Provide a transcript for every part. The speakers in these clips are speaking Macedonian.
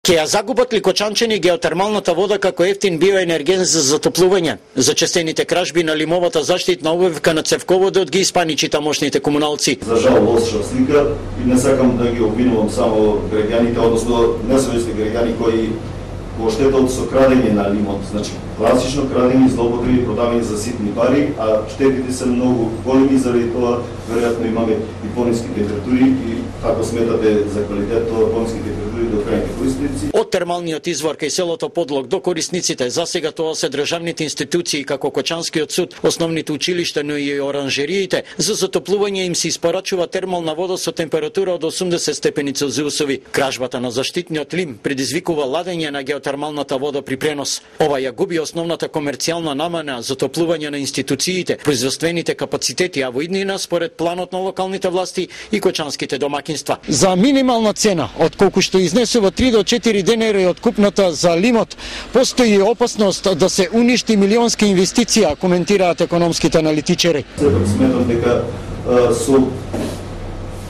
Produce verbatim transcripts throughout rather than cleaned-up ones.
Ке ја загубат ли кочанчани геотермалната вода како ефтин биоенерген за затоплување? Зачестените кражби на лимовата заштитна обувка на цевководот ги испаничи тамошните комуналци. За жал лоша слика и не сакам да ги обвинувам само граѓаните, односно несовесни граѓани кои го штетат со крадење на лимот, значи класично крадење, злоупотреби, продавање за ситни пари, а штетите се многу големи, заради тоа веројатно имаме и пониски температури и ако сметате за квалитет, тоа пониски температури до крајните корисници. Од термалниот извор кај селото Подлог до корисниците, засега тоа се државните институции како Кочанскиот суд, основните училишта, но и оранжериите. За затоплување им се испорачува термална вода со температура од осумдесет степени Целзиусови. Кражбата на заштитниот лим предизвикува ладење на геотермалната вода при пренос. Ова ја губи основната комерцијална намена за затоплување на институциите, производствените капацитети, а во иднина според планот на локалните власти и кочанските домакинства. За минимална цена, од колку што изнесува три до четири денари од купната за лимот, постои опасност да се уништи милионска инвестиција, коментираат економските аналитичари. Сепак сметам дека со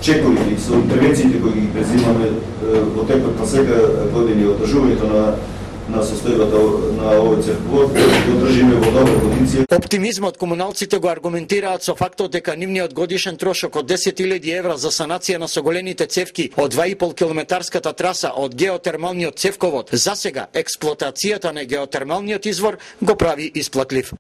чековите, со интервенциите кои ги презимаме во текот на сега години одржувањето на на состојбата на овој цевковод, го држиме во добра кондиција. Оптимизмот комуналците го аргументираат со фактот дека нивниот годишен трошок од десет илјади евра за санација на соголените цевки од два и пол километарската траса од геотермалниот цевковод, засега експлоатацијата на геотермалниот извор го прави исплатлив.